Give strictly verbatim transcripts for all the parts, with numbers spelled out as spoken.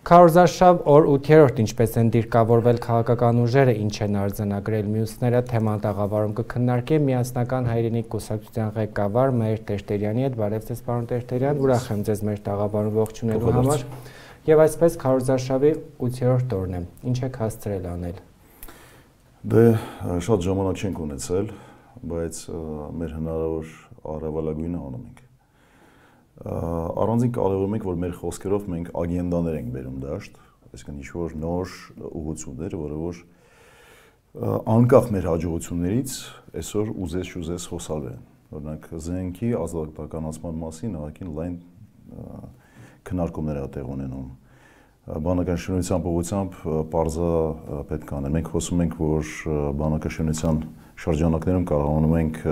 Քարոզարշավ օր ութերորդ ինչպես են դիրքավորվել քաղաքական ուժերը, ինչ են արձանագրել մյուսները, թեման տաղավարում կքննարկի միասնական հայրենիք կուսակցության ղեկավար Մհեր Տերտերյանի հետ։ Բարև ձեզ, պարոն Տերտերյան, ուրախ եմ ձեզ մեր տաղավարում ողջունելու համար։ Եվ այսպես քարոզարշավի ութերորդ օրն է։ Ինչ եք հասցրել անել։ Դե շատ ժամանակ չենք ունեցել, բայց մեր հնարավոր առավելագույնը անում ենք։ Առանձին կարևորում ենք, որ մեր խոսքերով մենք ագենդաներ ենք բերում դաշտ, այսինքն ինչ-որ նոր ուղղություններ, որը որ անկախ մեր հաջողություններից այսօր ուզես-չուզես խոսալու են։ Օրինակ զենքի ազատականացման մասին ահագին լայն քննարկումներ ա տեղ ունենում։ Բանական շինության ուղղությամբ պարզա պետք է անել։ Մենք խոսում ենք, որ բանական շինության շրջանակներում կարողանում ենք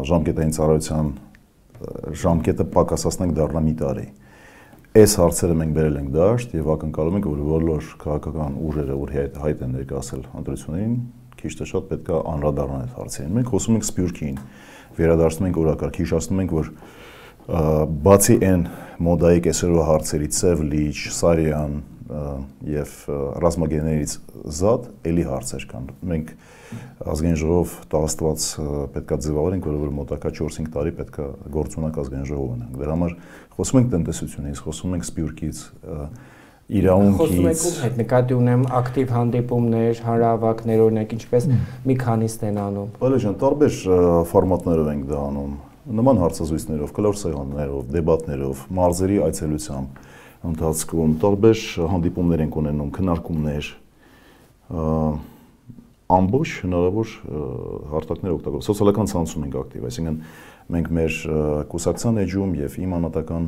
ժամկետային ծառայության ժամկետը պակասացնենք դառնա մի տարի։ Այս հարցերը մենք բերել ենք դաշտ եւ ակնկալում ենք, որ բոլոր քաղաքական ուժերը, որ հայտ են ներկայացել ընտրություններին, քիչ թե շատ պետք է անդրադառնան այդ հարցերին։ Մենք խոսում ենք Սփյուռքին, վերադարձնում ենք օրակարգ, հիշեցնում ենք, որ բացի այն մոդայիկ այսօրվա հարցերից Սև լիճ, Սարյան եւ ռազմագերներից զատ էլի հարցեր կան։ Մենք ազգային ժողով տաղաստված պետք է ձևավորենք, որովհետեւ մոտակա չորս-հինգ տարի պետք է գործունակ ազգային ժողով ունենք։ Դրա համար խոսում ենք տնտեսությունից, խոսում ենք Սփյուռքից, իրավունքից։ Խոսում եք ում հետ նկատի ունեմ ակտիվ հանդիպումներ, հանրահավաքներ, օրինակ ինչպես մի քանիստ են անում։ Բարի ջան, տարբեր ֆորմատներով ենք դա անում։ Նման հարցազրույցներով, կլոր սեղաններով, դեբատներով, մարզերի այցելությամբ ընթացքում տարբեր հանդիպումներ ենք ունենում, քննարկումներ, ամբողջ հնարավոր հարթակներ օգտագործում, սոցիալական ցանցում ենք ակտիվ, այսինքն մենք մեր կուսակցության էջում եւ իմ անհատական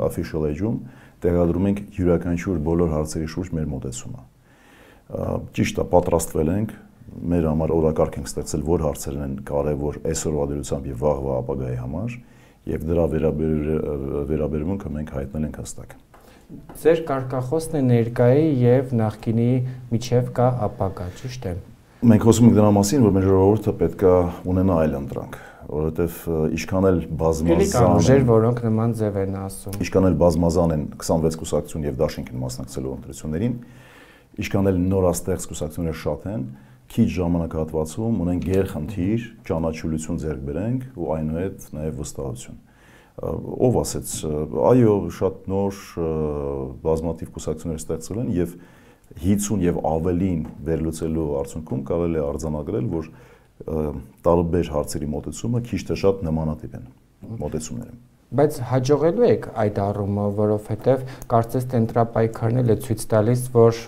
official էջում տեղադրում ենք յուրաքանչյուր բոլոր հարցերի շուրջ մեր մոտեցումը։ Ճիշտ է, պատրաստվել ենք, մեր համար օրակարգ ենք ստեղծել, որ հարցերն են կարևոր այսօրվա դրությամբ եւ վաղվա ապագայի համար, եւ դրա վերաբերմունքը մենք հայտնել ենք հստակ։ Ձեր կարգախոսն է ներկայի եւ նախկինի միջև կա ապագա, ճիշտ է։ Մենք խոսում ենք դրա մասին, որ մեր ժողովուրդը պետք է ունենա այլ ընտրանք, որովհետեւ ինչքան էլ բազմազան ուժեր, որոնք նման ձև են ասում։ Ինչքան էլ բազմազան են քսանվեց կուսակցություն եւ դաշինք են մասնակցելու ընտրություններին, ինչքան էլ նորաստեղծ կուսակցությունները շատ են, քիչ ժամանակահատվածում ունենք գերխնդիր, ճանաչելիություն ձեռք բերենք ու այնուհետ նաեւ վստահություն։ Ով ասեց, այո, շատ նոր բազմաթիվ կուսակցություններ ստեղծվել են եւ հինգսուն եւ ավելին վերլուծելու արդյունքում կարելի է արձանագրել, որ տարբեր հարցերի մոտեցումը քիչ թե շատ նմանատիպ են մոտեցումները։ Բայց հաջողելու եք այդ առումով, որովհետեւ կարծես թե ընտրապայքարն էլ է ցույց տալիս, որ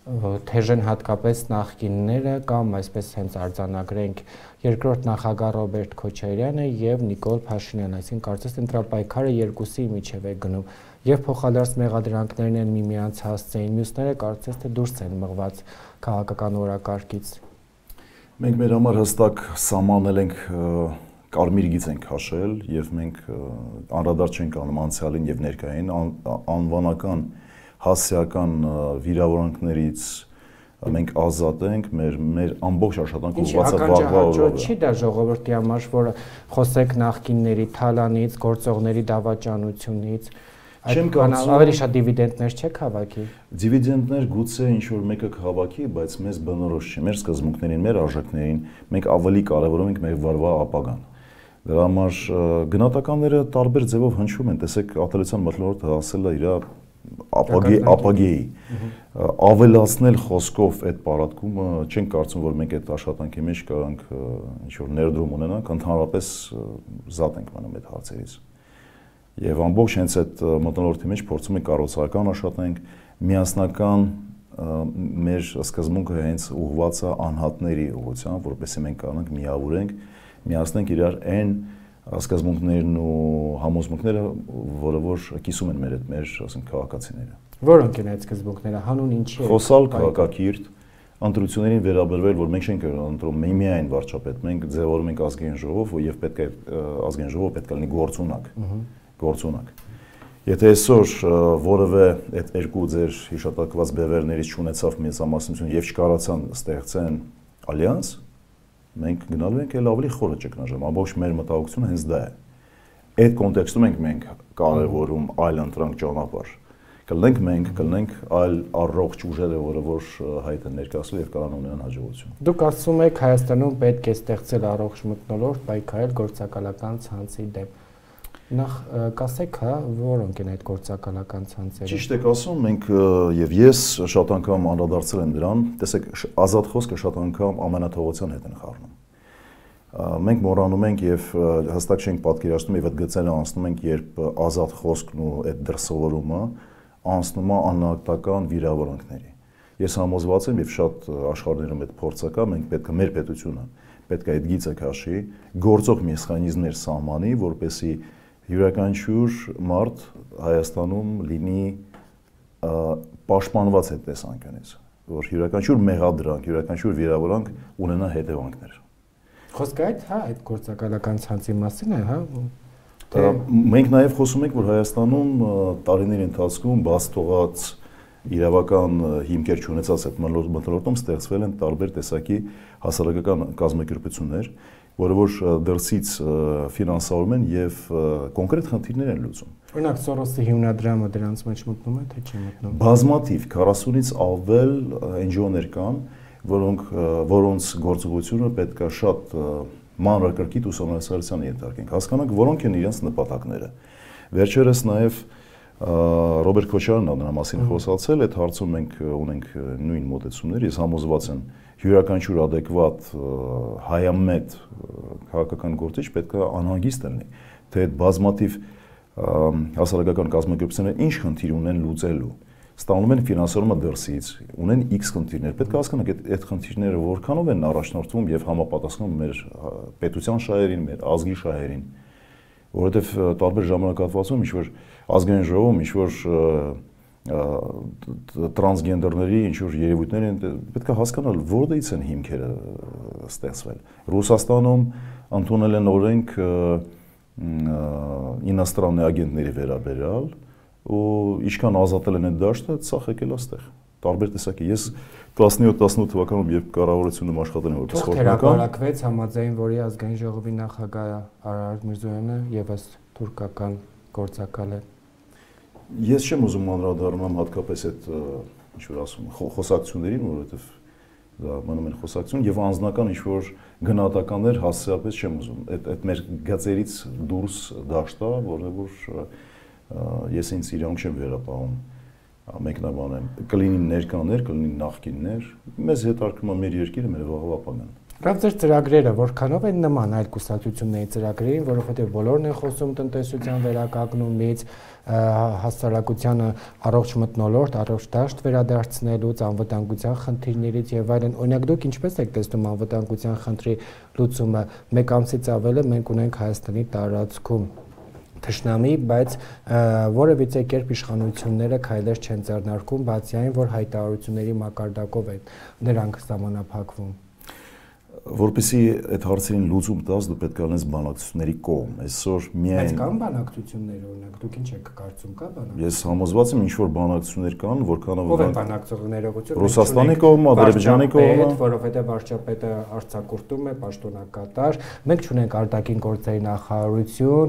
թեժեն հատկապես նախկինները կամ այսպես հենց արձանագրենք երկրորդ նախագահ Ռոբերտ Քոչարյանը եւ Նիկոլ Փաշինյանը, այսինքն կարծես ընտրապայքարը երկուսի միջև է գնում եւ փոխադարձ մեղադրանքներն են միմյանց հասցեին, մյուսները կարծես թե դուրս են մղված քաղաքական օրակարգից։ Մենք մեր համար հստակ սահմանել ենք կարմիր գիծ ենք հաշել եւ մենք անդրադարձ չենք անում անցյալին եւ ներկային անվանական հասարակական վիրավորանքներից մենք ազատ ենք, մեր մեր ամբողջ աշխատանքը ուղղված է վաղվա օրվա։ Չի դա ժողովրդի համար, որ խոսեք նախկինների թալանից, գործողների դավաճանությունից, ավելի շատ դիվիդենդներ չեք հավաքի։ Դիվիդենդներ գուցե ինչ որ մեկը հավաքի, բայց մեզ բնորոշ չի, մեր սկզբունքներին, մեր արժեքներին, մենք ավելի կարևորում ենք մեր վարվա ապագան։ Դրա համար գնահատականները տարբեր ձևով հնչում են, տեսեք, ատելության մթնոլորտը ասել է իր ապագեի ապագեի ավելացնել խոսքով այդ պարատկումը չենք կարծում, որ մենք այդ աշխատանքի մեջ կարանք ինչ որ ներդրում ունենանք, ընդհանրապես զատ ենք մնում այդ հարցերից։ Եվ ամբողջ հենց այդ մթնոլորտի մեջ փորձում ենք կառուցողական աշխատանք, միասնական մեր սկզբունքը հենց ուղղված է անհատների ուղղությամբ, որովհետեւ մենք կարողանանք միավորենք, միացնենք իրար այն սկզբունքներն ու համոզմունքները, որը որ կիսում են մեր հետ մեր, ասենք, քաղաքացիները։ Որոնք են այդ սկզբունքները, հանուն ինչի է։ Խոսալ քաղաքակիրթ, ընտրություններին վերաբերվել, որ մենք չենք ընտրում միայն վարչապետ, մենք ձևավորում ենք ազգային ժողով եւ պետք է ազգային ժողովը պետք է լինի գործունակ, գործունակ։ Եթե այսօր որևէ այդ երկու ձեր հիշատակված բևերներից չունեցավ մեծամասնություն եւ չկարողացան ստեղծեն ալյանս, մենք գնալու ենք էլ ավելի խորը ճգնաժամ, ամբողջ մեր մտահոգությունը հենց դա է։ այդ կոնտեքստում ենք մենք կարևորում այլ ընտրանք ճանապարհ։ Կլինենք մենք, կլինենք այլ առողջ ուժերը, որը որ հայտ են ներկայացրել եւ կարող ունենան հաջողություն։ Դուք ասում եք Հայաստանում պետք է ստեղծել առողջ մթնոլորտ, պայքարել գործակալական ցանցի դեմ։ Նախ կասեք, հա, որոնք են այդ գործակալական ցանցերը։ Ճիշտ եք ասում, մենք եւ ես շատ անգամ անդրադարձել եմ դրան, տեսեք, ազատ խոսքը շատ անգամ ամենաթողության հետ են խառնում։ Մենք մոռանում ենք եւ հստակ չենք պատկերացնում եւ այդ գծերը անցնում ենք, երբ ազատ խոսքն ու այդ դրսևորումը անցնում է անհատական վիրավորանքների։ Ես համոզված եմ եւ շատ աշխարհներում այդ փորձը կա, մենք պետք է մեր պետությունը պետք է այդ գիծը քաշի, գործող մեխանիզմներ սահմանի, որպեսզի յուրաքանչյուր մարդ Հայաստանում լինի պաշտպանված այդ տեսանկյունից, որ յուրաքանչյուր մեղադրանք, յուրաքանչյուր վիրավորանք ունենա հետևանքներ։ Խոսքը այդ, հա, այդ գործակալական ցանցի մասին է, հա։ Մենք նաև խոսում ենք, որ Հայաստանում տարիների ընթացքում բաց թողած իրավական հիմքեր չունեցած այդ մթնոլորտում ստեղծվել են տարբեր տեսակի հասարակական կազմակերպություններ, որը որ դրսից ֆինանսավորում են եւ կոնկրետ խնդիրներ են լուծում։ Օրինակ Սորոսի հիմնադրամը դրանց մեջ մտնում է, թե չի մտնում։ Բազմաթիվ քառասունից ավել N G O-ներ կան, որոնք որոնց գործողությունը պետք է շատ մանրակրկիտ ուսումնասիրության ենթարկենք, հասկանանք, որոնք են իրենց նպատակները։ Վերջերս նաև Ռոբերտ Քոչարյանն դրա մասին խոսացել, այդ հարցում մենք ունենք նույն մոտեցումներ, ես համոզված եմ, յուրաքանչյուր adekvat հայամետ քաղաքական գործիչ պետք է անհանգիստ լինի, թե այդ բազմաթիվ հասարակական կազմակերպությունները ինչ խնդիր ունեն լուծելու, ստանում են ֆինանսավորումը դրսից, ունեն X խնդիրներ, պետք է հասկանանք այդ այդ խնդիրները որքանով են առաջնորդվում եւ համապատասխանում մեր պետության շահերին, մեր ազգի շահերին, որովհետեւ տարբեր ժամանակահատվածում ինչ որ ազգային ժողովում ինչ որ տրանսգենդերների ինչ որ երևույթներ են, պետք է հասկանալ որտեղից են հիմքերը ստեղծվել։ Ռուսաստանում ընդունել են օրենք ինոստրանные агентների վերաբերյալ ու ինչքան ազատել են այդ դաշտը, սա եկել է այստեղ։ Տարբեր տեսակի։ Ես տասնյոթ տասնութ թվականում երբ կառավարությունում աշխատել եմ որպես խորհրդական, հրապարակվեց համաձայն, որի ազգային ժողովի նախագահ Արարատ Միրզոյանը եւս թուրքական գործակալ է։ Ես չեմ ուզում անդրադառնամ հատկապես այդ ինչ որ ասում խոսակցություններին, որովհետեւ դա մնում են խոսակցություն եւ անձնական ինչ որ գնահատականներ հասցեապես չեմ ուզում։ Այդ այդ մեր գծերից դուրս դաշտա, որը որ ես ինձ իրավունք չեմ վերապահում մեկնաբանեմ, կլինի ներկաներ, կլինի նախկիններ, մեզ հետարկում է մեր երկիրը, մեր վաղվա ապագան։ Լավ, ձեր ծրագրերը որքանով են նման այլ կուսակցությունների ծրագրերին, որովհետև բոլորն են խոսում տնտեսության վերականգնումից, հասարակությանը առողջ մթնոլորտ, առողջ դաշտ վերադարձնելուց, անվտանգության խնդիրներից եւ այլն։ Օրինակ դուք ինչպես եք տեսնում անվտանգության խնդրի լուծումը։ Մեկ ամսից ավել է մենք ունենք Հայաստանի տարածքում թշնամի, բայց որևիցե կերպ իշխանությունները քայլեր չեն ձեռնարկում, բացի այն, որ հայտարարությունների մակարդակով են դրանք սահմանափակվում։ Որպեսզի այդ հարցերին լուծում տաս, դու պետք է լինես բանակցությունների կողմ։ Այսօր միայն Բայց կան բանակցություններ, օրինակ, դուք ինչ եք կարծում, կա բանակցություն։ Ես համոզված եմ, ինչ որ բանակցություններ կան, որքանով ով են բանակցողները, Ռուսաստանի կողմը, Ադրբեջանի կողմը, որովհետև վարչապետը արձակուրդում է պաշտոնակատար, մենք չունենք արտաքին գործերի նախարարություն,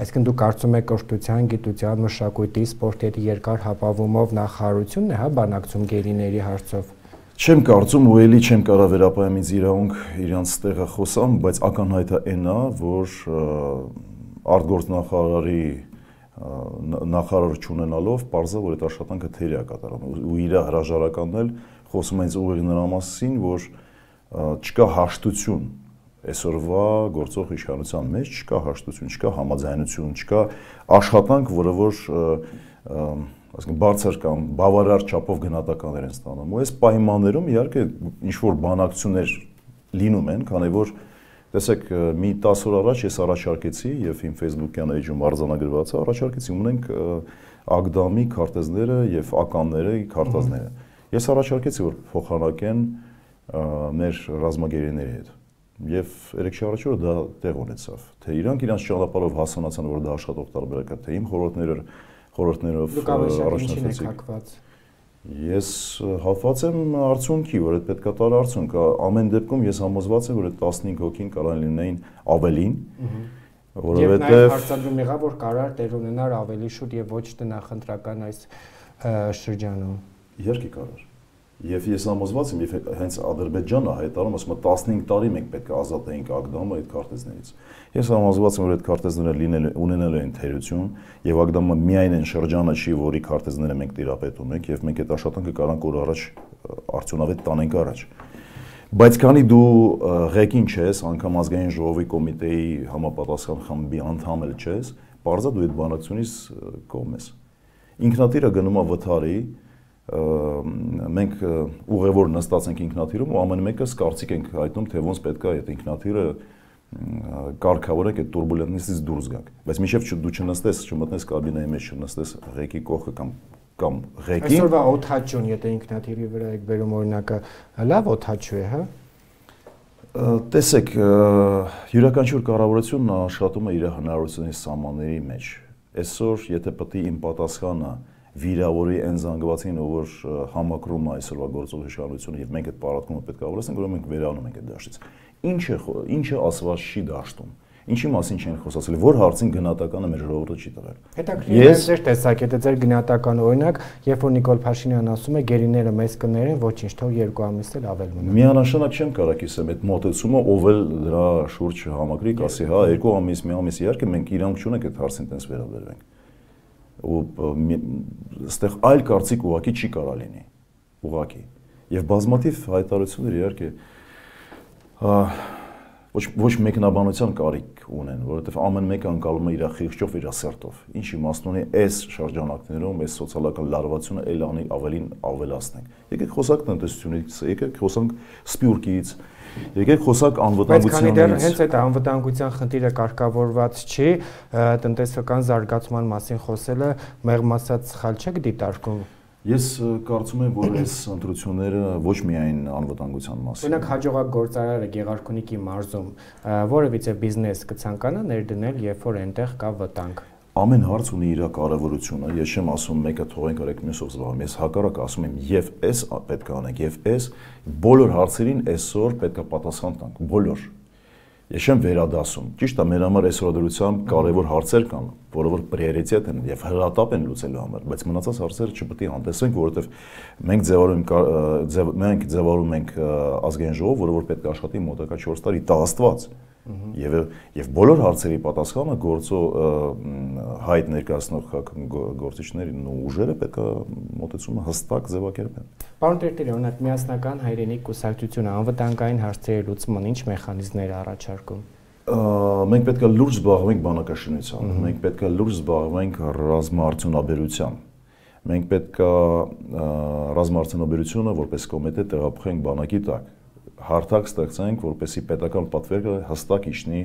այսինքն դուք կարծում եք կրթության, գիտության, մշակույթի, սպորտի հետ երկար հապավումով նախարարությունն է, հա, բանակցում գերիների հարցով։ Չեմ կարծում ու էլի չեմ կարող վերապահեմ ինձ իրավունք իրանց տեղը խոսամ, բայց ակնհայտ է այն է, որ արտգործնախարարի նախարար չունենալով պարզա որ այդ աշխատանքը թերի է կատարում ու իր հրաժարականն էլ խոսում են ուղիղ նրա մասին, որ չկա հաշտություն այսօրվա գործող իշխանության մեջ, չկա հաշտություն, չկա համաձայնություն, չկա աշխատանք, որը որ ասենք բարձր կամ բավարար չափով գնահատականներ են ստանում։ Ու այս պայմաններում իհարկե ինչ որ բանակցություններ լինում են, քանի որ տեսեք մի տասը օր առաջ ես առաջարկեցի եւ իմ Facebook-յան էջում արձանագրված է, առաջարկեցի ունենք Ագդամի քարտեզները եւ ականները, քարտազները։ Ես առաջարկեցի որ փոխանակեն մեր ռազմագերիների հետ։ Եվ երեք շաբաթ առաջ դա տեղ ունեցավ։ Թե իրանք իրանց ճանապարհով հասունացան, որ դա աշխատող տարբերակ է, թե իմ խորհուրդները խորհուրդներով առաջնորդեցիք։ Ես հատված եմ արդյունքի, որ այդ պետք է տար արդյունք։ Ամեն դեպքում ես համոզված եմ, որ այդ տասնհինգ հոգին կարող լինեին ավելին, Որովհետև եւ հարցադրում եղավ, որ կարար տեր ունենար ավելի շուտ եւ ոչ տնախնդրական այս շրջանում։ Իհարկե կարար։ Եվ ես համոզված եմ, եւ հենց Ադրբեջանը հայտարարում ասում է տասնհինգ տարի մենք պետք է ազատենք Ագդամը այդ քարտեզներից։ Ես համոզված եմ, որ այդ քարտեզները լինել ունենալ են թերություն եւ Ագդամը միայն այն շրջանը չի, որի քարտեզները մենք տիրապետում ենք եւ մենք այդ աշխատանքը կարանք օր առաջ արդյունավետ տանենք առաջ։ Բայց քանի դու ղեկին չես, անգամ ազգային ժողովի կոմիտեի համապատասխան խմբի անդամ էլ չես, բարձա դու այդ բանակցությունից կողմ ես։ Ինքնաթիռը գնում է վթարի, մենք ուղևոր նստած ենք ինքնաթիռում ու ամեն մեկս կարծիք ենք հայտնում, թե ոնց պետք է այդ ինքնաթիռը կարգավորենք այդ տուրբուլենտностից դուրս գանք։ Բայց մինչև դու չնստես, չմտնես կաբինայի մեջ, չնստես ղեկի կողքը կամ կամ ղեկին։ Այսօրվա օդաչուն, եթե ինքնաթիռի վրա եք բերում օրինակը, լավ օդաչու է, հա։ Տեսեք, յուրաքանչյուր կառավարություն աշխատում է իր հնարավորությունների սահմանների մեջ։ Այսօր, եթե պետք է իմ պատասխանը վիրավորի այն զանգվածին, որ համակրում է այսօրվա գործող իշխանությունը եւ մենք այդ պարապտումը պետք է ավելացնենք, ուրեմն մենք վերանում ենք այդ դաշտից։ Ինչը ինչը ասված չի դաշտում։ Ինչի մասին չեն խոսացել, որ հարցին գնահատականը մեր ժողովուրդը չի տվել։ Հետաքրքիր է ձեր տեսակետը, ձեր գնահատականը, օրինակ, երբ որ Նիկոլ Փաշինյանն ասում է գերիները մեզ կներեն, ոչինչ, թող երկու ամիս էլ ավել մնա։ Միանշանակ չեմ կարող ասեմ այդ մոտեցումը, ով էլ դրա շուրջ համակրի, ասի, հա, երկու ամիս, մի ամիս, իհարկե մենք իրանք չունենք այդ հարցին տես վերաբերվենք։ Ու այստեղ այլ կարծիք ուղակի չի կարա լինի, ուղակի։ Եվ բազմաթիվ հայտարարություններ իհարկե ոչ ոչ մեկնաբանության կարիք ունեն, որովհետև ամեն մեկը անցալում է իր խիղճով, իր սերտով։ Ինչ իմաստ ունի այս շրջանակներում, այս սոցիալական լարվածությունը էլ անի ավելին ավելացնենք։ Եկեք խոսանք տնտեսությունից, եկեք խոսանք սպյուրքից, եկեք խոսանք անվտանգությունից։ Բայց քանի դեռ հենց այդ անվտանգության խնդիրը կարգավորված չի, տնտեսական զարգացման մասին խոսելը մեղմ ասած սխալ չէ դիտարկում։ Ես կարծում եմ, որ այս ընտրությունները ոչ միայն անվտանգության մասին։ Օրինակ հաջողակ գործարարը Գեղարքունիքի մարզում որևիցե բիզնես կցանկանա ներդնել, երբ որ այնտեղ կա վտանգ։ Ամեն հարց ունի իր կարևորությունը, ես չեմ ասում մեկը թողենք արեք մյուսով զբաղվենք, ես հակառակ ասում եմ եւ այս պետք է անենք, եւ այս բոլոր հարցերին այսօր պետք է պատասխան տանք, բոլոր։ Ես չեմ վերադասում։ Ճիշտ է, մեր համար այսօր դրությամբ կարևոր հարցեր կան, որը որ պրիորիտետ են եւ հրատապ են լուծելու համար, բայց մնացած հարցերը չպետք է անտեսենք, որովհետեւ մենք ձևավորում մենք ձևավորում ենք ազգային ժողով, որը որ պետք է աշխատի մոտակա չորս տարի, տա Աստված։ Եվ եւ բոլոր հարցերի պատասխանը գործո հայտ ներկայացնող գործիչներին ու ուժերը պետք է մոտեցումը հստակ ձևակերպեն։ Պարոն Տերտերի, օրինակ միասնական հայրենիք կուսակցությունը անվտանգային հարցերի լուծման ինչ մեխանիզմներ է առաջարկում։ Մենք պետք է լուրջ զբաղվենք բանակաշինությամբ, մենք պետք է լուրջ զբաղվենք ռազմաարդյունաբերությամբ։ Մենք պետք է ռազմաարդյունաբերությունը որպես կոմիտե տեղափոխենք բանակի տակ։ Հարթակ ստեղծենք, որպեսզի պետական պատվերը հստակ իջնի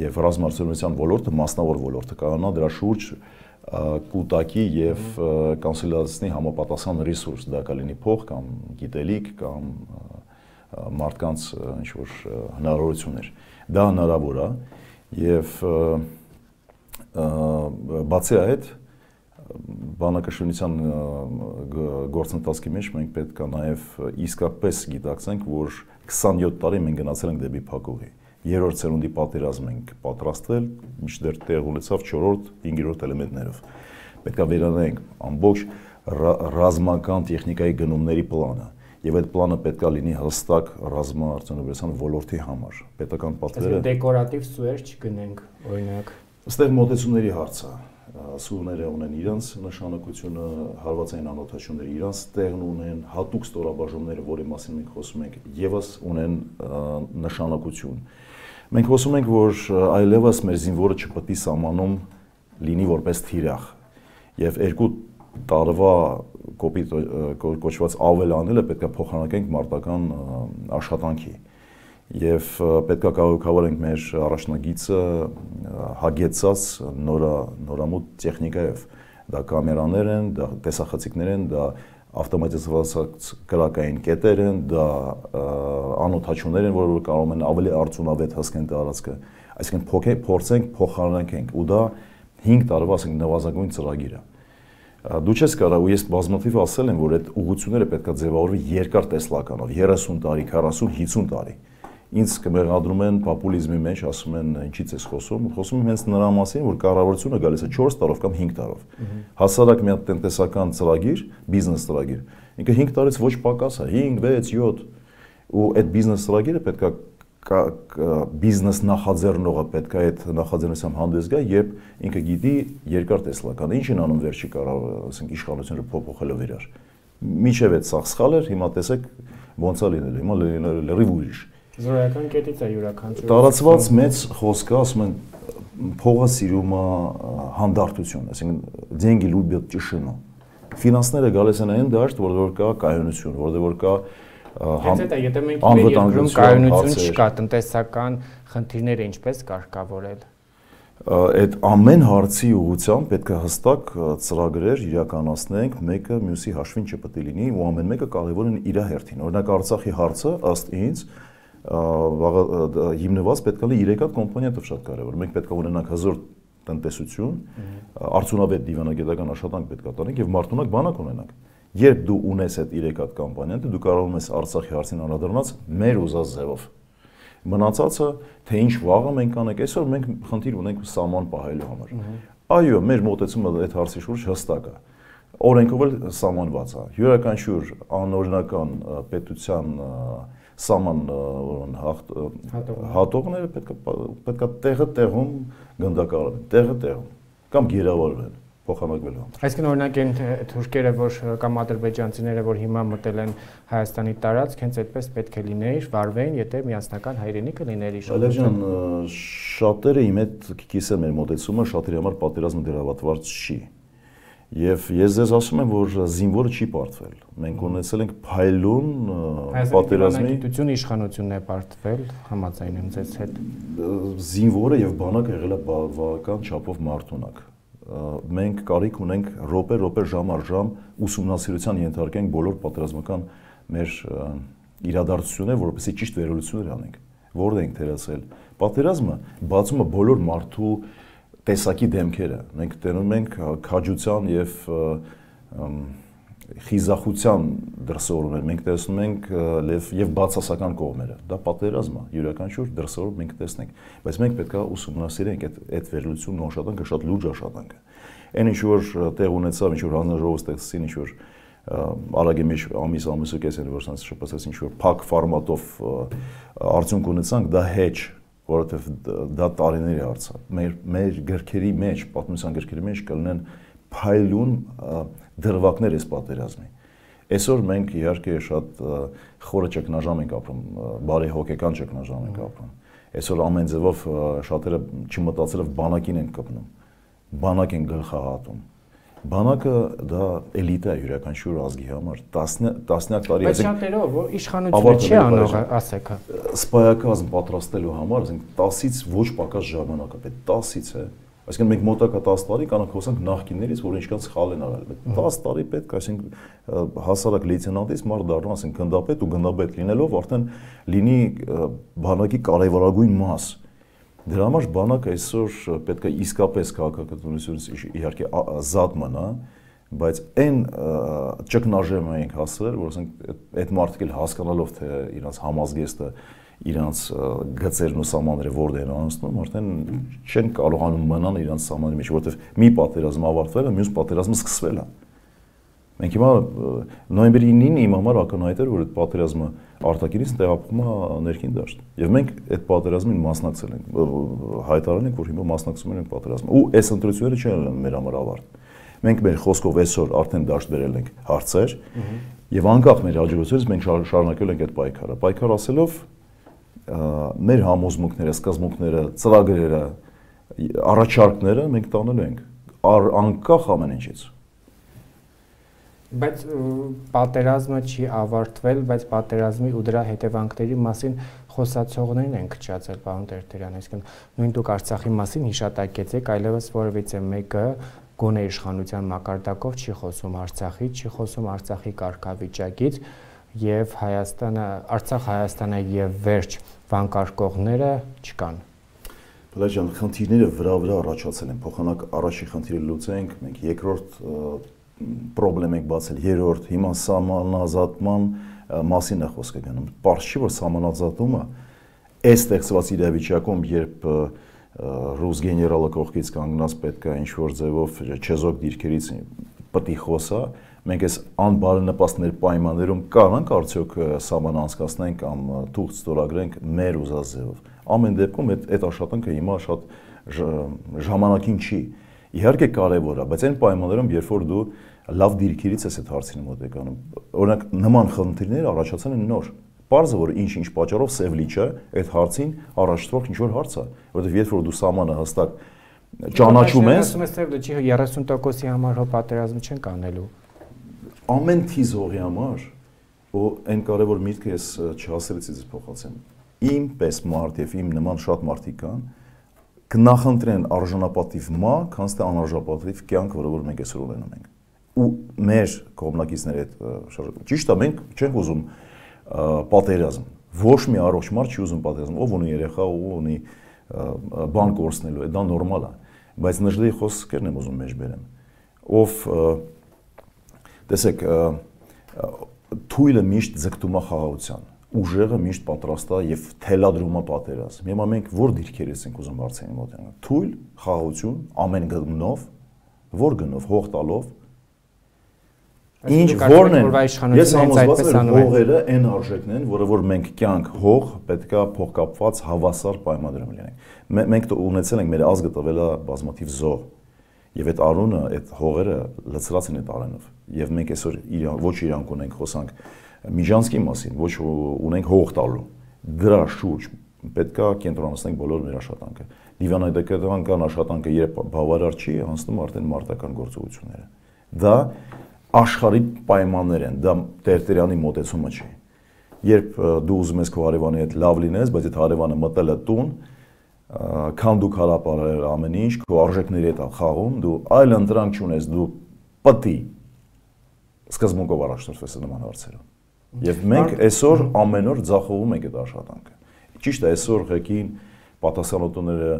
եւ ռազմաարդյունաբերության ոլորտը, մասնավոր ոլորտը կանանա դրա շուրջ կուտակի եւ կոնսոլիդացնի համապատասխան ռեսուրս, դա կլինի փող կամ գիտելիք կամ մարդկանց ինչ որ հնարավորություններ։ Դա հնարավոր է եւ բացի այդ բանակաշինության գործընթացի մեջ մենք պետք է նաեւ իսկապես գիտակցենք, որ քսանյոթ տարի մենք գնացել ենք դեպի փակուղի։ Երրորդ սերունդի պատերազմ ենք պատրաստվել, մինչդեռ տեղ ունեցավ չորրորդ, հինգերորդ էլեմենտներով։ Պետք է վերանայենք ամբողջ ռազմական տեխնիկայի գնումների պլանը։ Եվ այդ պլանը պետք է լինի հստակ ռազմաարդյունաբերության ոլորտի համար։ Պետական պատվերը դեկորատիվ սուեր չգնենք, օրինակ։ Այստեղ մոտեցումների հարց է։ Սուները ունեն իրենց նշանակությունը, հարվածային անօթաչությունները իրենց տեղն ունեն, հատուկ ստորաբաժանումները, որի մասին մենք խոսում ենք, եւս ունեն նշանակություն։ Մենք խոսում ենք, որ այլևս մեր զինվորը չպետք է սահմանում լինի որպես թիրախ, եւ երկու տարվա կոպիտ կոչված ավելանելը պետք է փոխանակենք մարտական աշխատանքի։ Եվ պետք է կառավարենք մեր առաջնագիծը հագեցած նորա նորամուտ տեխնիկայով։ Դա կամերաներ են, դա տեսախցիկներ են, դա ավտոմատիզացված կրակային կետեր են, դա անօթաչություններ են, որոնք կարող են ավելի արդյունավետ հասկանալ տարածքը։ Այսինքն փորձենք փոխանակենք, ու դա հինգ տարվա ասենք նվազագույն ծրագիր է։ Դու չես կարող, ու ես բազմաթիվ ասել եմ, որ այդ ուղղությունները պետք է ձևավորվի երկար տեսլականով, երեսուն տարի, քառասուն, հիսուն տարի։ Ինձ կմեղադրում են պոպուլիզմի մեջ, ասում են ինչից ես խոսում, խոսում եմ հենց նրա մասին, որ կառավարությունը գալիս է չորս տարով կամ հինգ տարով։ Հասարակ մի հատ տնտեսական ծրագիր, բիզնես ծրագիր, ինքը հինգ տարից ոչ պակաս է, հինգ, վեց, յոթ, ու այդ բիզնես ծրագիրը պետք է բիզնես նախաձեռնողը պետք է այդ նախաձեռնությամբ հանդես գա, երբ ինքը գիտի երկար տեսլականը, ինչ են անում վերջի կարող, ասենք իշխանությունը փոփոխելով իրար։ Միջև այդ սաղ սխալ էր, հիմա տեսեք ոնց է լինել, հիմա լրիվ ուրիշ։ Զորական կետից է յուրաքանչյուր։ Տարածված մեծ խոսքը, ասում են փողը սիրում է հանդարտություն, այսինքն деньги любят тишину։ Ֆինանսները գալիս են այն դաշտ, որտեղ կա կայունություն, որտեղ որ կա Հենց այդ է, եթե մենք մեր երկրում կայունություն չկա, տնտեսական խնդիրները ինչպես կարգավորել։ Այդ ամեն հարցի ուղղությամբ պետք է հստակ ծրագրեր իրականացնենք, մեկը մյուսի հաշվին չպետք է լինի ու ամեն մեկը կարևոր են իր հերթին։ Օրինակ Արցախի հարցը ըստ ինձ հիմնված պետք է լինի երեք հատ կոմպոնենտով շատ կարևոր։ Մենք պետք է ունենանք հզոր տնտեսություն, արդյունավետ դիվանագիտական աշխատանք պետք է տանենք եւ մարդունակ բանակ ունենանք։ Երբ դու ունես այդ երեք հատ կոմպոնենտը, դու կարող ես Արցախի հարցին անդրադառնալ մեր ուզած ձևով։ Մնացածը, թե ինչ վաղը մենք անենք, այսօր մենք խնդիր ունենք սահման պահելու համար։ Այո, մեր մոտեցումը այդ հարցի շուրջ հստակ է։ Օրենքով էլ սահմանված է։ Յուրաքանչյուր անօրինական պետության սահման հատողները պետք է պետք է տեղը տեղում գնդակահարեն, տեղը տեղում կամ գերավարվեն, փոխանակվելու համար։ Այսինքն օրինակ այն թուրքերը, որ կամ ադրբեջանցիները, որ հիմա մտել են Հայաստանի տարածք, հենց այդպես պետք է լիներ, վարվեին, եթե միասնական հայրենիքը լիներ իշխանություն։ Շատերը իմ հետ կիսեն մեր մոտեցումը, շատերի համար պատերազմը դերավատված չի։ Եվ ես ձեզ ասում եմ, որ զինվորը չի պարտվել։ Մենք ունեցել ենք փայլուն պատերազմի գիտություն իշխանությունն է պարտվել, համաձայն եմ ձեզ հետ։ Զինվորը եւ բանակը եղել է բավական չափով մարդունակ։ Մենք կարիք ունենք րոպե րոպե ժամ առ ժամ ուսումնասիրության ենթարկենք բոլոր պատերազմական մեր իրադարձությունները, որովհետեւ ճիշտ վերլուծություններ անենք։ Որտեղ ենք թերացել։ Պատերազմը բացում է բոլոր մարդու տեսակի դեմքերը։ Մենք տենում ենք քաջության եւ խիզախության դրսևորումներ, մենք տեսնում ենք եւ բացասական կողմերը։ Դա պատերազմ է, յուրաքանչյուր դրսևորում մենք տեսնենք, բայց մենք պետք է ուսումնասիրենք այդ այդ վերլուծությունն աշխատանքը շատ լուրջ աշխատանք է։ Այն ինչ որ տեղ ունեցավ, ինչ որ հանրաժողով ստեղծեցին, ինչ որ արագի մեջ ամիս ամիսը կես են որ sense շփոթեցին, ինչ որ փակ ֆորմատով արդյունք ունեցանք, դա hedge, որովհետև դա տարիների հարց է։ Մեր մեր գրքերի մեջ, պատմության գրքերի մեջ կլինեն փայլուն դրվագներ այս պատերազմի։ Այսօր մենք իհարկե շատ խորը ճգնաժամ ենք ապրում, բարի հոգեկան ճգնաժամ ենք ապրում։ Այսօր ամեն ձևով շատերը չմտածելով բանակին են կպնում, բանակ են գլխահատում։ Բանակը դա էլիտա է յուրաքանչյուր ազգի համար, տասնյակ տարի։ Բայց շատերով որ իշխանությունը չի անող, ասեք։ Սպայակազմ պատրաստելու համար, ասենք տասից ոչ պակաս ժամանակ է պետք, տասից է։ Այսինքն մենք մոտակա տասը տարի կանանք խոսանք նախկիններից, որ ինչքան սխալ են արել։ տասը տարի պետք է, այսինքն հասարակ լեյտենանտից մարդ դառնա, ասենք գնդապետ ու գնդապետ լինելով արդեն լինի բանակի կարևորագույն մաս։ Դրա համար բանակը այսօր պետք է իսկապես քաղաքականությունից իհարկե զատ մնա, բայց այն ճգնաժամը ենք հասցրել, որ ասենք այդ մարդիկ էլ հասկանալով թե իրանց համազգեստը, իրանց գծերն ու սահմանները որտեղ են անցնում, արդեն չեն կարողանում մնալ իրանց սահմանի մեջ, որովհետև մի պատերազմ ավարտվել է, մյուս պատերազմը սկսվել է։ Մենք հիմա նոյեմբերի ինին իմ համար ակնհայտ էր, որ այդ պատերազմը արտաքինից տեղափոխվում է ներքին դաշտ։ Եվ մենք այդ պատերազմին մասնակցել ենք, հայտարարել ենք, որ հիմա մասնակցում ենք պատերազմին։ Ու այս ընտրությունները չեն մեր համար ավարտ։ Մենք մեր խոսքով այսօր արդեն դաշտ բերել ենք հարցեր, եւ անկախ մեր հաջողությունից մենք շարունակել ենք այդ պայքարը։ Պայքար ասելով մեր համոզմունքները, սկզբունքները, ծրագրերը, առաջարկները մենք տանելու ենք անկախ ամեն ինչից։ Բայց պատերազմը չի ավարտվել, բայց պատերազմի ու դրա հետևանքների մասին խոսացողներն են քչացել, պարոն Տերտերյան, այսինքն նույն դուք Արցախի մասին հիշատակեցեք, այլևս որևիցե մեկը գոնե իշխանության մակարդակով չի խոսում Արցախից, չի խոսում Արցախի կարգավիճակից եւ Հայաստանը, Արցախ, Հայաստանը եւ վերջ վանկարկողները չկան։ Բլեջան, խնդիրները վրա-վրա առաջացել են, փոխանակ առաջի խնդիրը լուծենք, մենք երկրորդ պրոբլեմ ենք բացել, երրորդ, հիմա սահմանազատման մասին է խոսքը գնում։ Պարզ չի, որ սահմանազատումը այս ստեղծված իրավիճակում, երբ ռուս գեներալը կողքից կանգնած պետք է ինչ-որ ձևով չեզոք դիրքերից պետք է խոսա, մենք այս անբարենպաստ պայմաններում կարանք արդյոք սահման անցկացնենք կամ թուղթ ստորագրենք մեր ուզած ձևով։ Ամեն դեպքում այդ այդ աշխատանքը հիմա շատ ժամանակին չի։ Իհարկե կարևոր է, բայց այն պայմաններում, երբ որ դու լավ դիրքերից ես այդ հարցին մոտեկանում, օրինակ նման խնդիրներ առաջացան են նոր։ Պարզը որ ինչ-ինչ պատճառով սև լիճը այդ հարցին առաջտվող ինչ-որ հարց է, որովհետև երբ որ դու սահմանը հստակ ճանաչում ես, ասում ես սև լիճի երեսուն տոկոսի համար հո պատերազմ չեն կանելու։ Ամեն թիզ հողի համար, ու այն կարևոր միտքը ես չհասրեցի ձեզ փոխացեմ։ Իմ պես մարդ եւ իմ նման շատ մարդիկ կան, կնախընտրեն արժանապատիվ մա, քան թե անարժանապատիվ կյանք, որը որ մենք այսօր ունենում ենք։ Ու մեր կողմնակիցների հետ ճիշտ է, մենք չենք ուզում պատերազմ։ Ոչ մի առողջ մարդ չի ուզում պատերազմ, ով ունի երեխա, ով ունի բան կորցնելու, դա նորմալ է, բայց նժդեի խոսքերն եմ ուզում մեջ բերեմ։ Ով տեսեք, թույլը միշտ ձգտում է խաղաղության, ուժեղը միշտ պատրաստ է եւ թելադրում է պատերազմ։ Հիմա մենք որ դիրքերից ենք ուզում հարցին մոտենալ։ Թույլ խաղաղություն ամեն գնով, որ գնով, հող տալով։ Ինչ որն են, ես համոզված եմ, հողերը այն արժեքն են, որը որ մենք կյանք հող պետքա փոխկապված հավասար պայմաններում լինենք։ Մենք ունեցել ենք մեր ազգը տվել է բազմաթիվ զոհ, եւ այդ արունը, այդ հողերը լցրած են այդ արենով։ Եվ մենք այսօր ոչ իրանք ունենք խոսանք Միջանցքի մասին, ոչ ունենք հող տալու։ Դրա շուրջ պետքա կենտրոնացնենք բոլոր մեր աշխատանքը։ Դիվանագիտական աշխատանքը երբ բավարար չի, անցնում արդեն մարտական գործողությունները։ Դա աշխարհի պայմաններ են, դա Տերտերյանի մոտեցումը չի։ Երբ դու ուզում ես քո հարևանի հետ լավ լինես, բայց այդ հարևանը մտել է տուն, քան դու քարապարել ամեն ինչ, քո արժեքների հետ խաղում, դու այլ ընտրանք չունես, դու պետք է սկզբունքով առաջնորդվես նման հարցերով։ Եվ մենք այսօր ամեն օր ձախողում ենք այդ աշխատանքը։ Ճիշտ է, այսօր ղեկին պատասխանատուները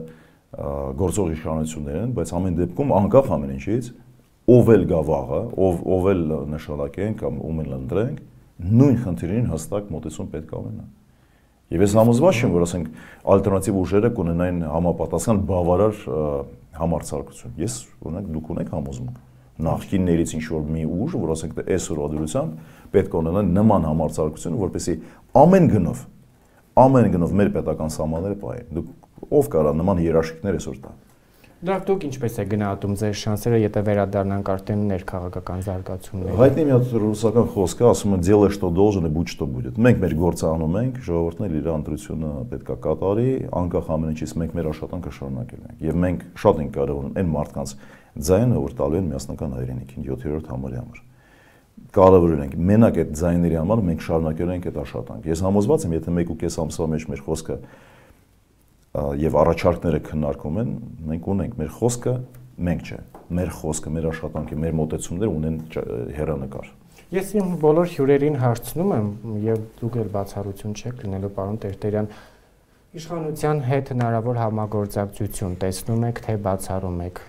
գործող իշխանություններ են, բայց ամեն դեպքում անկախ ամեն ինչից ով էլ գա վաղը, ով ով էլ նշանակենք կամ ում էլ ընտրենք, նույն խնդիրին հստակ մոտեցում պետք է ունենա։ Եվ ես համոզված եմ, որ ասենք ալտերնատիվ ուժերը կունենային համապատասխան բավարար համարձակություն։ Ես օրինակ դուք ունեք համոզմունք նախկիններից ինչ-որ մի ուժ, որ ասենք այսօրվա դրությամբ պետք է ունենան նման համարձակություն, որպեսզի ամեն գնով, ամեն գնով մեր պետական սահմանները պահեն։ Դուք ով կարա նման երաշխիքներ այսօր տա։ Դրանք դուք ինչպես է գնահատում ձեր շանսերը, եթե վերադառնանք արդեն ներքաղաքական զարգացումներին։ Հայտնի մի հատ ռուսական խոսք է, ասում է «Делай, что должен, и будь, что будет»։ Մենք մեր գործը անում ենք, ժողովուրդն էլ իր ընտրությունը պետք է կատարի, անկախ ամեն ինչից մենք մեր աշխատանքը շարունակել ենք։ Եվ մենք շատ ենք կարևորում այն մարդկանց ձայնը, որ տալու են միասնական հայրենիքին յոթերորդ համարի համար։ Կարևորել ենք մենակ այդ ձայների համար մենք շարունակել ենք այդ աշխատանքը։ Ես համոզված եմ, եթե մեկ ու կես ամսվա մեջ մեր խոսքը եւ առաջարկները քննարկում են, մենք ունենք մեր խոսքը, մենք չէ, մեր խոսքը, մեր աշխատանքը, մեր մոտեցումները ունեն հեռանկար։ Ես իմ բոլոր հյուրերին հարցնում եմ եւ դուք էլ բացառություն չեք լինելու, պարոն Տերտերյան, իշխանության հետ հնարավոր համագործակցություն տեսնում եք, թե բացառում եք։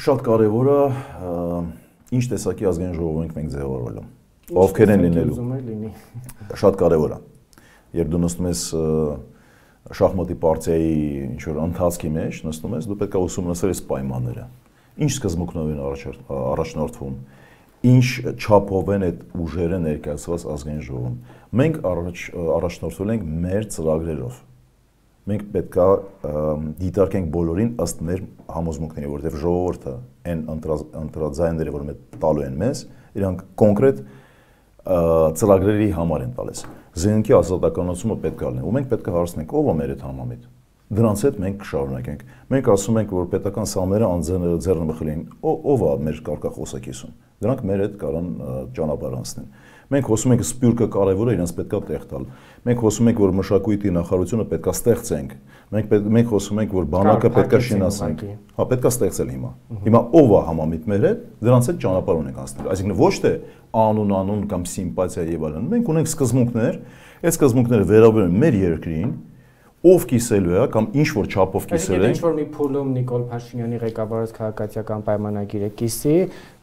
Շատ կարևոր է ինչ տեսակի ազգային ժողով ենք մենք ձևավորելու։ Ովքեր են լինելու։ Շատ կարևոր է։ Երբ դու նստում ես շախմատի պարտիայի ինչ-որ ընթացքի մեջ, նստում ես, դու պետք է ուսումնասիրես պայմանները։ Ինչ սկզբունքներով են առաջնորդվում, ինչ չափով են այդ ուժերը ներկայացված ազգային ժողովում։ Մենք առաջնորդվել ենք մեր ծրագրերով։ Մենք պետք է դիտարկենք բոլորին ըստ մեր համոզմունքների, որովհետև ժողովուրդը այն ընտրաձայները, որ մենք տալու են մեզ, իրանք կոնկրետ ծրագրերի համար են տալիս։ Զենքի ազատականացումը պետք է լինի, ու մենք պետք է հարցնենք, ով է մեր այդ համամիտ։ Դրանց հետ մենք կշարունակենք։ Մենք ասում ենք, որ պետական սահմանները անձեռնմխել են, ով է մեր կարգախոսակիցում։ Դրանք մեր հետ կարան ճանապարհ անցնեն։ Մենք խոսում ենք սպյուրքը կարևոր է, իրենց պետք է տեղ տալ։ Մենք խոսում ենք, որ մշակույթի նախարարությունը պետք է ստեղծենք։ Մենք մենք խոսում ենք, որ բանակը պետք է շինացնենք։ Հա, պետք է ստեղծել հիմա։ Հիմա ով է համամիտ մեր հետ, դրանց հետ ճանապարհ ունենք անցնել։ Այսինքն ոչ թե անուն անուն կամ սիմպաթիա եւ այլն։ Մենք ունենք սկզբունքներ, այդ սկզբունքները վերաբերում են մեր երկրին, ով կիսելու է կամ ինչ որ չափով կիսել են։ Ինչ որ մի փուլում Նիկոլ Փաշինյանի ղեկավարած քաղաքացիական պայմանագիրը կիսի,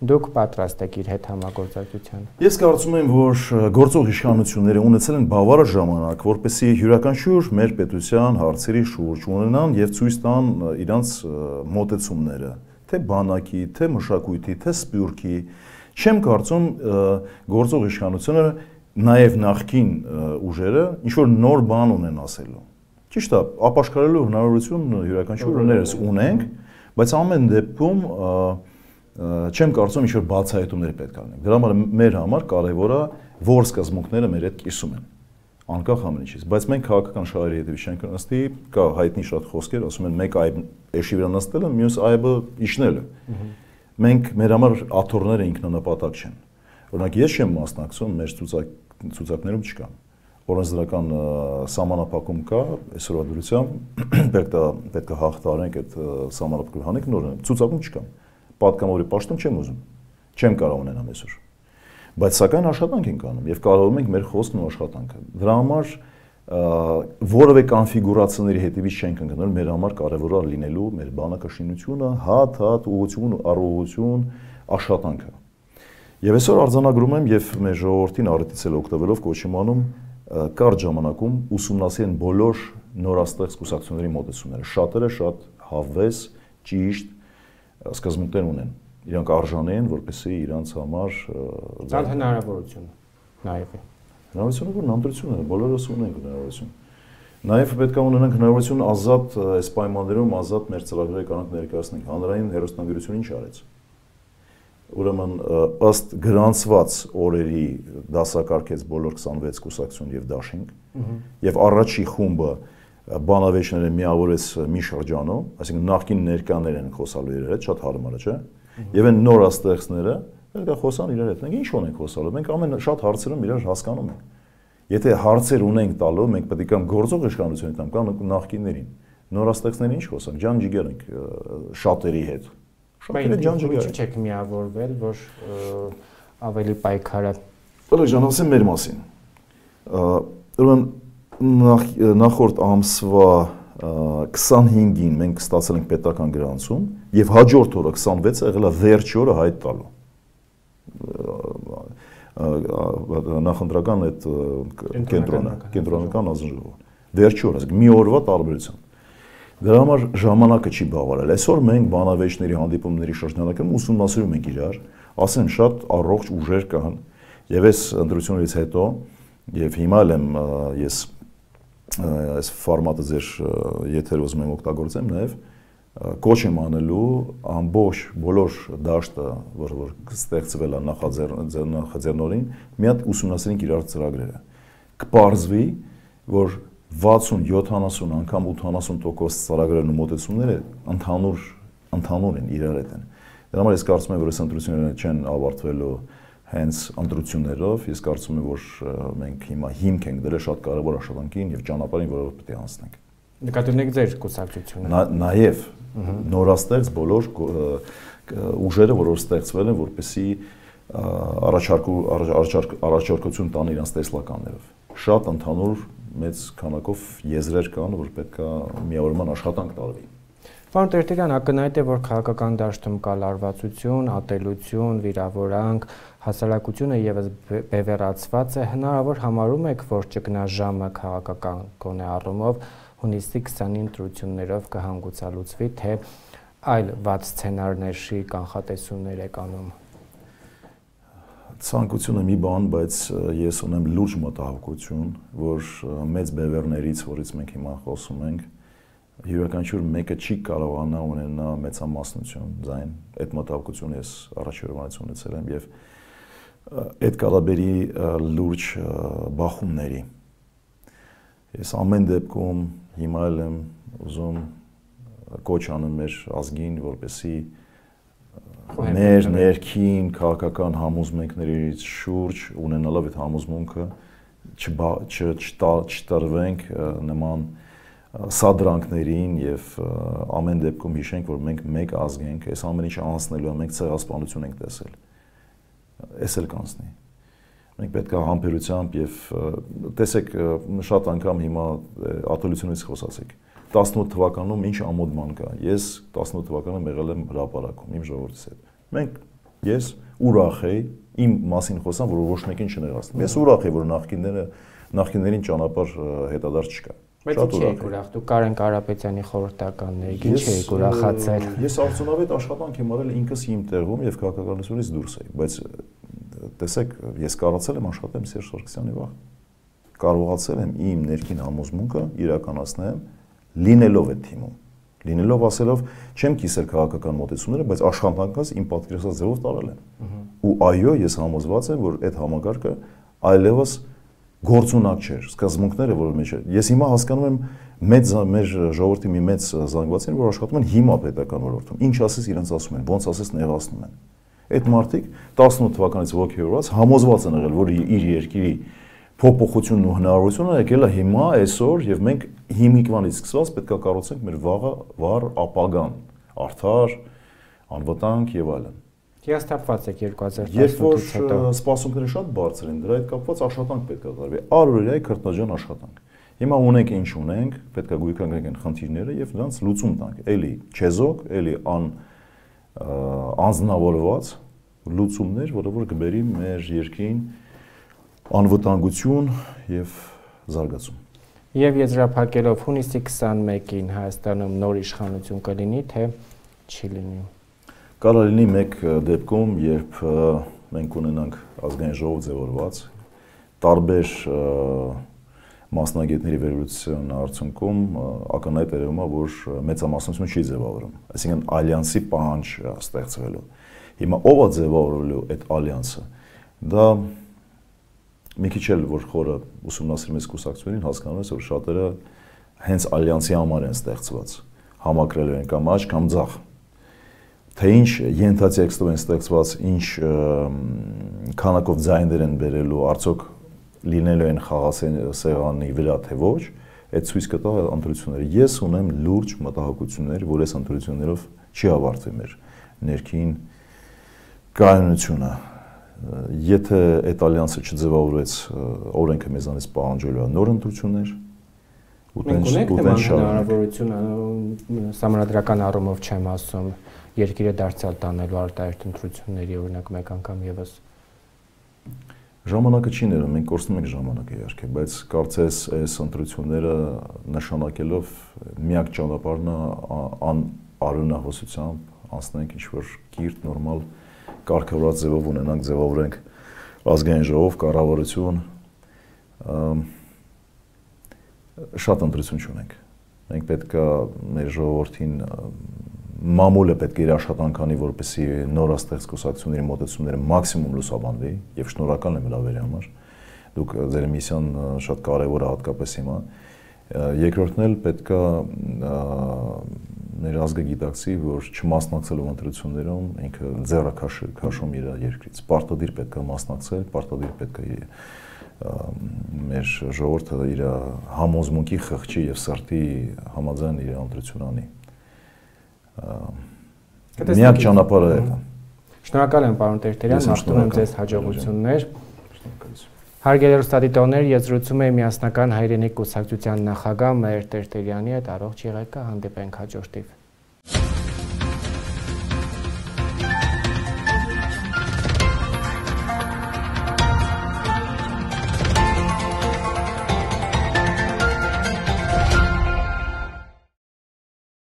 դուք պատրաստ եք իր հետ համագործակցության։ Ես կարծում եմ, որ գործող իշխանությունները ունեցել են բավարար ժամանակ, որպեսզի յուրաքանչյուր մեր պետության հարցերի շուրջ ունենան եւ ցույց տան իրանց մոտեցումները, թե բանակի, թե մշակույթի, թե սփյուռքի։ Չեմ կարծում գործող իշխանությունը նաեւ նախկին ուժերը ինչ որ նոր բան ունեն ասելու։ Ճիշտ է, ապաշխարելու հնարավորություն յուրաքանչյուրներս ունենք, բայց ամեն դեպքում չեմ կարծում ինչ որ բացահայտումներ պետք է լինեն։ Դրա համար մեր համար կարևոր է, որ սկզբունքները մեր հետ կիսում են, անկախ ամեն ինչից։ Բայց մենք քաղաքական շահերի հետևից չենք նստի, կա հայտնի շատ խոսքեր, ասում են մեկ այբ էշի վրա նստելը, մյուս այբը իջնելը։ Մենք մեր համար աթոռները ինքնանպատակ չեն։ Օրինակ ես չեմ մասնակցում, մեր ցուցակներում չկա։ Օրենսդրական սահմանափակում կա, այսօրվա դրությամբ պետք է պետք է հաղթարենք այդ սահմանափակումը հանենք նոր ցուցակում չկա։ Պատգամավորի պաշտոն չեմ ուզում։ Չեմ կարող ունենամ այսօր։ Բայց սակայն աշխատանք ենք անում եւ կարողանում ենք մեր խոսքն ու աշխատանքը։ Դրա համար որևէ կոնֆիգուրացիաների հետևից չենք ընկնել, մեր համար կարևոր է լինելու մեր բանակաշինությունը, հատ-հատ ուղղություն, առողջություն, աշխատանքը։ Եվ այսօր արձանագրում եմ եւ մեր ժողովրդին առիթից էլ օգտվելով կոչում անում կարճ ժամանակում ուսումնասիրեն բոլոր նորաստեղծ կուսակցությունների մոտեցումները։ Շատերը շատ հավես, ճիշտ սկզբունքներ ունեն։ Իրանք արժանի են, որպեսզի իրանց համար ցան հնարավորություն նաև է։ Հնարավորությունը որ նամտրություն է, բոլորս ունենք հնարավորություն։ Նաև պետք է ունենանք հնարավորություն ազատ այս պայմաններում ազատ մեր ծրագրերը կանանք ներկայացնենք։ Հանրային հեռուստաընկերությունը ինչ արեց։ Ուրեմն ըստ գրանցված օրերի դասակարգեց բոլոր քսանվեց կուսակցություն եւ դաշինք եւ առաջի խումբը բանավեճները միավորեց մի շրջանում, այսինքն նախկին ներկաներ են խոսալու իրար հետ, շատ հարմար է, չէ՞։ Եվ այն նորաստեղծները պետք է խոսան իրար հետ։ Մենք ինչ ունենք խոսալու։ Մենք ամեն շատ հարցերում իրար հասկանում ենք։ Եթե հարցեր ունենք տալու, մենք պետք է կամ գործող իշխանությունին կամ կամ նախկիններին։ Նորաստեղծներին ինչ խոսանք, ջանջիգեր ենք շատերի հետ։ Բայց ինչ չեք միավորվել, որ ավելի պայքարը։ Բալակ ջան, ասեմ մեր մասին։ Ուրեմն նախորդ ամսվա քսանհինգին մենք ստացել ենք պետական գրանցում եւ հաջորդ օրը քսանվեցը եղել է վերջ օրը հայտ տալու։ Նախընտրական այդ կենտրոնը, կենտրոնական ազնժողով։ Վերջ օրը, մի օրվա տարբերությամբ։ Դրա համար ժամանակը չի բավարարել։ Այսօր մենք բանավեճների հանդիպումների շրջանակում ուսումնասիրում ենք իրար, ասեմ շատ առողջ ուժեր կան, եւ այս ընտրությունից հետո եւ հիմա էլ եմ ես այս ֆորմատը ձեր եթերը ուզում եմ օգտագործեմ նաեւ կոչ եմ անելու ամբողջ բոլոր դաշտը, որ որ ստեղծվել է նախաձեռ նախաձեռնորին, մի հատ ուսումնասիրենք իրար ծրագրերը։ Կպարզվի, որ վաթսուն յոթանասուն անգամ ութանասուն տոկոս ծրագրերն ու մոտեցումները ընդհանուր ընդհանուր են իրար հետ են։ Դրա համար ես կարծում եմ, որ այս ընտրությունները չեն ավարտվելու հենց ընտրություններով, ես կարծում եմ, որ մենք հիմա հիմք ենք դրել շատ կարևոր աշխատանքին եւ ճանապարհին, որով պետք է անցնենք։ Նկատի ունեք ձեր կուսակցությունը։ Նաեւ նորաստեղծ բոլոր ուժերը, որոնք ստեղծվել են, որպեսզի առաջարկու առաջարկություն տան իրանց տեսլականներով։ Շատ ընդհանուր մեծ քանակով եզրեր կան, որ պետք է միավորման աշխատանք տարվի։ Պարոն Տերտերյան, ակնհայտ է, որ քաղաքական դաշտում կա լարվածություն, ատելություն, վիրավորանք, հասարակությունը եւս բևեռացված է, հնարավոր համարում եք, որ ճգնաժամը քաղաքական գոնե առումով հունիսի քսանին ընտրություններով կհանգուցալուծվի, թե այլ վատ սցենարների կանխատեսումներ եք անում։ Ցանկությունը մի բան, բայց ես ունեմ լուրջ մտահոգություն, որ մեծ բևեռներից, որից մենք հիմա խոսում ենք, յուրաքանչյուր մեկը չի կարողանա ունենա մեծամասնություն ձայն։ Այդ մտահոգությունը ես առաջերովանից ունեցել եմ եւ այդ կալաբերի լուրջ բախումների։ Ես ամեն դեպքում հիմա էլ եմ ուզում կոչ անում մեր ազգին, որպեսզի մեր ներքին քաղաքական համոզմունքներից շուրջ ունենալով այդ համոզմունքը չտրվենք նման սադրանքներին եւ ամեն դեպքում հիշենք, որ մենք մեկ ազգ ենք, այս ամեն ինչը անցնելու է, մենք ցեղասպանություն ենք տեսել։ Էս էլ կանցնի։ Մենք պետք է համբերությամբ եւ տեսեք շատ անգամ հիմա ատելությունից խոսացիք։ տասնութ թվականում ինչ ամոթ բան կա։ Ես տասնութ թվականում եղել եմ հրապարակում իմ ժողովրդի հետ։ Մենք ես ուրախ եի իմ մասին խոսամ, որ ոչ մեկին չներասնեմ։ Ես ուրախ եի, որ նախկինները նախկիններին ճանապարհ հետադարձ չկա։ Շատ ուրախ ուրախ դու Կարեն Կարապետյանի խորհրդականների ինչ էիք ուրախացել։ Ես արդյունավետ աշխատանք եմ արել ինքս իմ տեղում եւ քաղաքականությունից դուրս էի, բայց տեսեք, ես կարողացել եմ աշխատեմ Սերժ Սարգսյանի վաղ։ Կարողացել եմ իմ ներքին համոզմունքը իրականացնեմ լինելով այդ թիմում։ Լինելով ասելով չեմ կիսել քաղաքական մոտեցումները, բայց աշխատանքս իմ պատկերացած ձևով տարել եմ։ Ու այո, ես համոզված եմ, որ այդ համակարգը այլևս գործունակ չէր, սկզբունքները, որ մեջ է։ Ես հիմա հասկանում եմ մեծ մեր ժողովրդի մի մեծ զանգվածին, որ աշխատում են հիմա պետական ոլորտում։ Ինչ ասես իրենց ասում են, ոնց ասես նեղացնում են։ Այդ մարդիկ տասնութ թվականից ոգևորված համոզված են եղել, որ իր երկրի փոփոխությունն ու հնարավորությունը եկել է հիմա, այսօր, եւ մենք հիմիկվանից սկսած պետք է կառուցենք մեր վաղը վառ ապագան, արդար, անվտանգ եւ այլն։ Հիասթափված եք երկու հազար տասնութից հետո։ Երբ որ սպասումները շատ բարձր են, դրա հետ կապված աշխատանք պետք է տարվի, առօրյայի քրտնաջան աշխատանք։ Հիմա ունենք ինչ ունենք, պետք է գույքանենք այն խնդիրները եւ դրանց լուծում տանք։ Էլի չեզոք, էլի ան անձնավորված լուծումներ, որը որ կբերի մեր երկրին անվտանգություն եւ զարգացում։ Եվ եզրափակելով հունիսի քսանմեկին Հայաստանում նոր իշխանություն կլինի, թե չի լինի։ Կարող լինի մեկ դեպքում, երբ մենք ունենանք ազգային ժողով ձևորված, տարբեր մասնագետների վերլուծության արդյունքում ակնհայտ երևում է, որ մեծամասնությունը չի ձևավորում, այսինքն ալյանսի պահանջ ստեղծվելու։ Հիմա ով է ձևավորելու այդ ալյանսը։ Դա մի քիչ էլ որ խորը ուսումնասիրում ես կուսակցություններին, հասկանում ես, որ շատերը հենց ալյանսի համար են ստեղծված, համակրելու են կամ աճ կամ ձախ։ Թե ինչ ենթատեքստով են ստեղծված, ինչ քանակով ձայներ են բերելու, արդյոք լինելու են խաղասեղանի վրա թե ոչ, այդ ցույց կտա ընտրությունները։ Ես ունեմ լուրջ մտահոգություններ, որ այս ընտրություններով չի ավարտվի մեր ներքին կայունությունը։ Եթե այդ ալյանսը չձևավորեց, օրենքը մեզանից պահանջելու է նոր ընտրություններ, ու տենց հնարավորություն համանդրական առումով չեմ ասում, երկիրը դարձյալ տանելու արտահերթ ընտրությունների, օրինակ մեկ անգամ եւս։ Ժամանակը չի ներում, մենք կորցնում ենք ժամանակը իհարկե, բայց կարծես այս ընտրությունները նշանակելով միակ ճանապարհն է անարյունահոսությամբ անցնենք ինչ-որ կիրթ, նորմալ կարգավորած ձևով ունենանք, ձևավորենք ազգային ժողով, կառավարություն, շատ ընտրություն չունենք։ Մենք պետք է մեր ժողովրդին մամուլը պետք է իր աշխատանք անի, որպեսզի նորաստեղծ կուսակցությունների մոտեցումները մաքսիմում լուսաբանվի եւ շնորհակալ եմ հրավերի համար։ Դուք ձեր միսիան շատ կարեւոր է հատկապես հիմա։ Երկրորդն էլ պետք է մեր ազգը գիտակցի, որ չմասնակցելով ընտրություններում ինքը ձեռը քաշում իր երկրից։ Պարտադիր պետք է մասնակցել, պարտադիր պետք է մեր ժողովուրդը իր համոզմունքի խղճի եւ սրտի համաձայն իր ընտրություն անի։ Միակ ճանապարհը է դա։ Շնորհակալ եմ, պարոն Տերտերյան, մաղթում եմ ձեզ հաջողություններ։ Հարգելի հեռուստադիտողներ, ես զրուցում եմ Միասնական հայրենիք կուսակցության նախագահ Մհեր Տերտերյանի հետ, առողջ եղեք, հանդիպենք հաջորդիվ։